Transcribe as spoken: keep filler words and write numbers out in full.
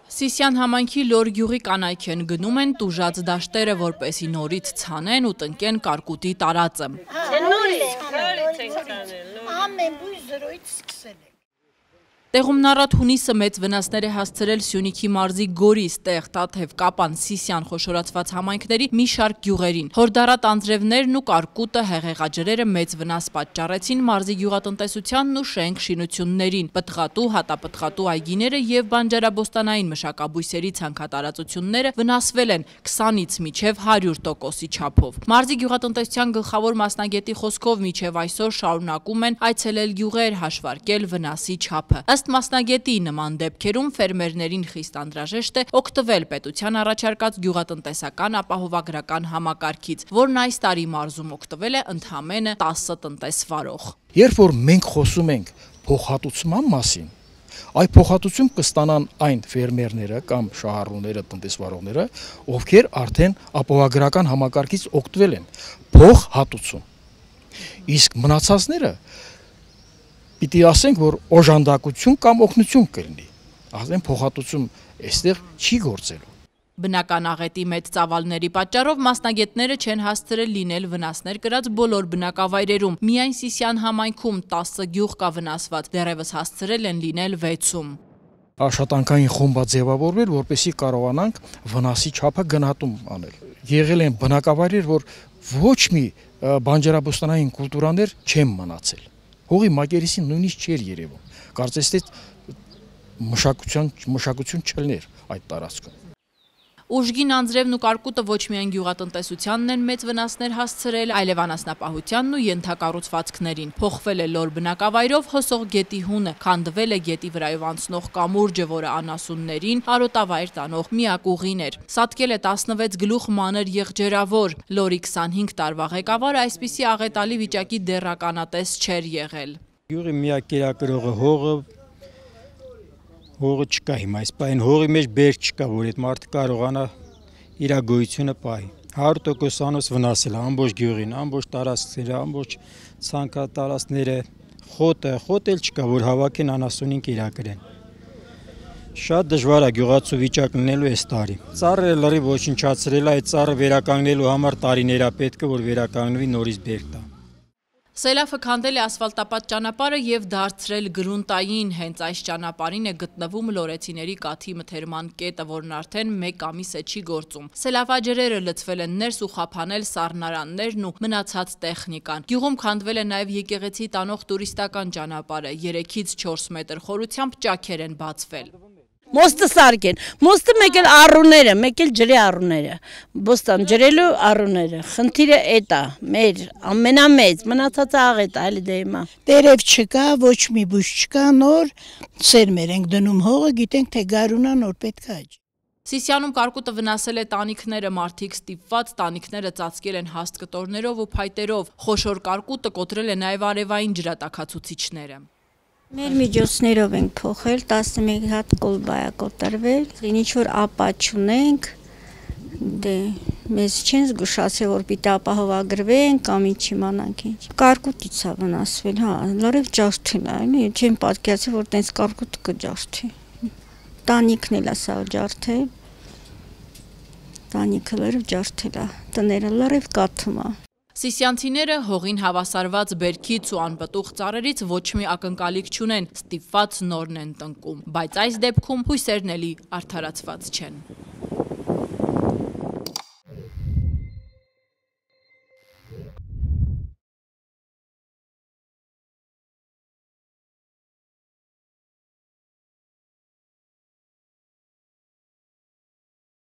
Սիսյան համայնքի Լոր գյուղի կանայք են գնում են տուժած դաշտերը, որպեսզի նորից ցանեն ու տնկեն կարկուտի տարածը։ Ամեն բույս զրոյից սկսել է։ Տեղումն առատ հունիսը մեծ վնասներ է հասցրել Սյունիքի մարզի Գորիս, Տեղ, Տաթև, Կապան, Սիսյան խոշորացված համայնքների մի շարք գյուղերին։ Հորդառատ անձրևներն ու կարկուտը հեղեղաջրերը մեծ վնաս պատճառեցին մարզի գյուղատնտեսությանն ու շենք շինություններին։ Պտղատու, հատապտղատու այգիները եւ բանջարաբոստանային մշակաբույսերի ցանքատարածությունները վնասվել են քսանից մինչև հարյուր տոկոսի չափով։ Մարզի գյուղատնտեսության գլխավոր մասնագետի խոսքով մինչև այսօր շարունակում են այցելել գյուղեր, հաշվարկել վնասի չափը։ Ըստ մասնագետի նման դեպքերում ֆերմերներին խիստ անհրաժեշտ է օգտվել պետության առաջարկած գյուղատնտեսական ապահովագրական համակարգից, որն այս տարի մարզում օգտվել է ընդամենը տասը տնտեսվարող։ Երբ որ մենք խոսում ենք փոխհատուցման մասին, այդ փոխհատուցում կստանան այն ֆերմերները կամ շահառուները, տնտեսվարողները, ովքեր արդեն ապահովագրական համակարգից օգտվել են, փոխհատուցում։ Իսկ մնացածները պիտի ասենք, որ օժանդակություն կամ օգնություն կլինի, ասեն փոխհատուցում այստեղ չի գործելու։ Բնական աղետի մեծ ծավալների պատճառով մասնագետները չեն հասցրել լինել վնասներ կրած բոլոր բնակավայրերում։ Միայն Սիսյան համայնքում տասը գյուղ կա վնասված, դեռևս հասցրել են լինել վեցում։ Աշխատանքային խումբ ձևավորվել, որպեսզի կարողանանք վնասի չափը գնահատում անել։ Եղել են բնակավայրեր, որ ոչ մի բանջարաբոստանային կուլտուրաներ չեն մնացել։ Հողի մակերեսին նույնիսկ չէր երևում, կարծես թե մշակություն, մշակություն չլներ այդ տարածքում։ Ուժգին անձրևն ու կարկուտը ոչ միայն գյուղատնտեսությանն են մեծ վնասներ հասցրել, այլև անասնապահությանն ու ենթակառուցվածքներին։ Փոխվել է Լոր բնակավայրով հոսող գետի հունը, քանդվել է գետի վրայով անցնող կամուրջը, որը անասուններին արոտավայր տանող միակ ուղին էր։ Սատկել է տասնվեց գլուխ մանր եղջերավոր։ Լորի քսանհինգ տարվա ղեկավարը այսպիսի աղետալի վիճակի դեռականատես չէր եղել։ Գյուղի միակ կերակրողը հողը Հողը չկա հիմա, այս պահին հողի մեջ բերք չկա, որ այդ մարդը կարողանա իր գոյությունը պահի։ հարյուր տոկոսանոց վնասել է ամբողջ գյուղին, ամբողջ տարածքները, ամբողջ ցանքատարածքները, խոտը, խոտ էլ չկա, որ հավաքեն անասունին կերակրեն։ Շատ դժվար է գյուղացու վիճակ լինելու այս տարի։ Ծառը լրիվ ոչնչացրել է, այդ ծառը վերականգնելու համար տարիներ է պետք է, որ վերականգնվի, նորից բերք տա։ Սելավը քանդել է ասֆալտապատ ճանապարհը եւ դարձրել գրունտային, հենց այս ճանապարհին է գտնվում լորեցիների կաթի մթերման կետը, որն արդեն մեկ ամիս է չի գործում։ Սելավաջրերը լցվել են ներս ու խափանել սառնարաններն ու մնացած տեխնիկան։ Գյուղում քանդվել է նաեւ եկեղեցի տանող տուրիստական ճանապարհը, երեքից չորս մետր խորությամբ ճաքեր են բացվել։ Մոստը սարքեն, մոստը մեկ էլ առուները, մեկ էլ ջրի առուները, բոստան ջրելու առուները, խնդիրը էդ է, մեր ամենամեծ, մնացածը աղետ է, այլ դե հիմա։ Տերև չկա, ոչ մի բույս չկա, նոր սերմեր ենք դնում հողը, գիտենք թե գարունա նոր պետք է։ Սիսյանում կարկուտը վնասել է տանիքները, մարդիկ ստիպված տանիքները ծածկել են հաստ կտորներով ու փայտերով, խոշոր կարկուտը կոտրել է նաև արևային ջրատաքացուցիչները։ Մեր միջոցներով ենք փոխել, տասնմեկ հատ կոլբա է կոտրվել, ինչ որ ապա չունենք, դե մեզ չեն զգուշացել, որ պիտի ապահովագրվեն կամ ինչ իմանանք ինչ։ Կարկուտից է վնասվել, հա, լրիվ ջարդել է, չեմ պատկերացել, որ տենց կարկուտ կջարդի։ Տանիքն էլ է սա ջարդել, տանիքը լրիվ ջարդել է, տները լրիվ կաթում է։ Սիսյանցիները հողին հավասարված բերքից ու անպտուղ ծառերից ոչ մի ակնկալիք չունեն, ստիպված նորն են տնկում, բայց այս դեպքում հույսերն էլի արդարացված չեն։